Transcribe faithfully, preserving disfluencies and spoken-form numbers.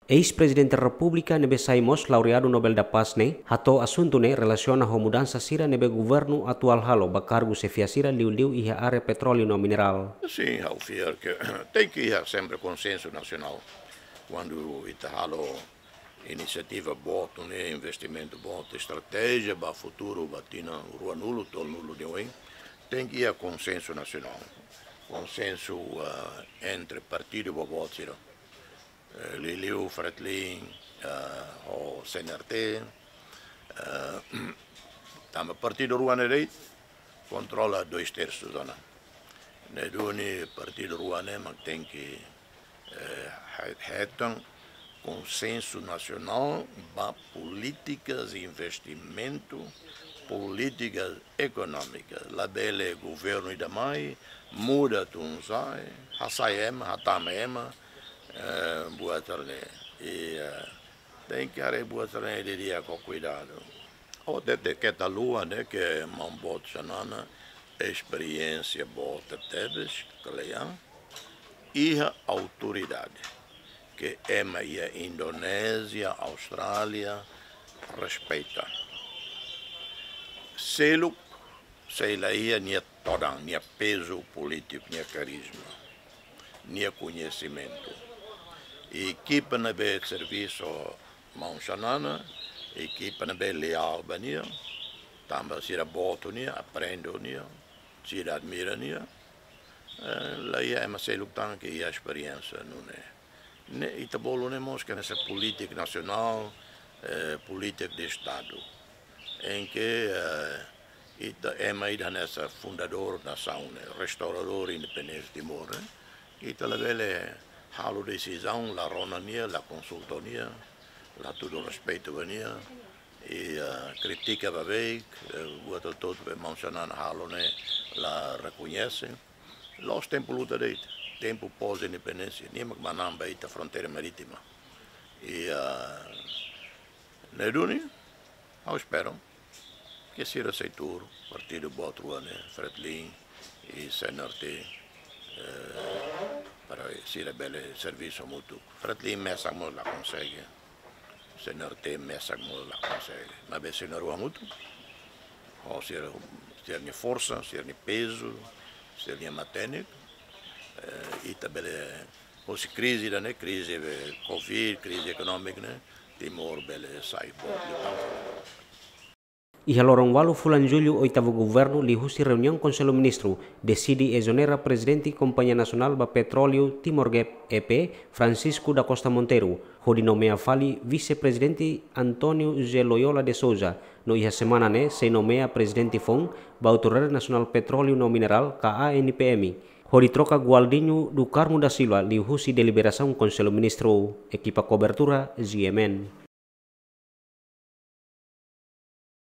Eis-Prezidente Repúblika ne'ebé sai mós laureadu Nobel da Paz ne'e, hato'o asuntu ne'e relasiona ho mudansa sira ne'ebé governu atuál halo ba kargu xefia sira liuliu iha área petróleu no minerál. Sin, ha'u fiar ke tenke iha sempre konsensu nasionál. Kuandu ita halo inisiativa boot ne'e, investimentu boot, estratéjia ba futuru, ba tinan ruanulu, tolunulu nia oin, tenke iha konsensu nasionál. Konsensu, ah, entre partidu boboot sira. Eh, liuliu Fretilin, ah, ho C N R T, ah, tanba partidu rua ne'e de'it kontrola dois terços ona. Ne'e duni partidu rua ne'e mak tenke, eh, he-, hetan konsensu nasionál ba polítikas, investimentu, polítikas ekonómikas. Labele governu ida mai, muda tun sa'e, hasai ema, hatama ema, eh, buat sira ne'e. I, eh, tenke haree buat sira ne'e didi'ak ho kuidadu. Ó hatete keta haluha ne'e ke maun boot Xanana, esperiénsia boot tebes, kle'an, iha autoridade ke ema iha Indonézia, Austrália, respeita. Seluk, sei la iha nia todan, nia pezu polítiku, nia karizma, nia koñesimentu. Ekipa ne'ebé servisu maun Xanana, ekipa ne'ebé leál ba nia, tanba sira boot ho nia, aprende ho nia, sira admira nia, eh, la iha ema seluk tan ke iha esperiénsia nune'e. Ne'e ita bolu ne'e mós ke hanesan polítika nasionál, eh, polítika de Estadu. Em que, eh, ita ema ida hanesan fundadór nasaun ne'e, restauradór independénsia Timor ne'e, ita labele halo desizaun la rona nia, la konsulta nia, la hatudu respeitu ba nia, i, eh, kritika ba beik, eh, buat hotu-hotu be maun Xanana halo ne'e la rekoñese. La'ós tempu luta de'it, tempu pós-independénsia, nia mak manán ba ita fronteira marítima. I, ah, ne'e duni, ha'u espera ke sira sei tuur, partidu boot rua ne'e, Fretilin i C N R T, eh, para sira bele servisu hamutuk. Fretilin mesak mós la konsege, C N R T mesak mós la konsege. Maibé sira na'in-rua hamutuk, ho sira, sira-nia forsa, sira-nia pezu, sira-nia matenek, eh, ita bele, hosi krize ida-ne'e, krize be covid, krize ekonómika ne'e, Timor bele sai boot liután. Iha loron ualu fulan Jullu, oitavu governu liuhusi reuniaun Konsellu Ministru deside ezonera Prezidente Kompañia Nasionál ba Petróleu Timor Gap, E P, Francisco da Costa Monteiro, hodi nomeia fali Vise-Prezidente António José Loyola de Sousa, no iha semana ne'e sei nomeia prezidente foun ba Autoridade Nasionál Petróleu no Minerál, ka A N P M, hodi troka Gualdinho do Carmo da Silva liuhusi deliberasaun Konsellu Ministru. Ekipa kobertura, G M N.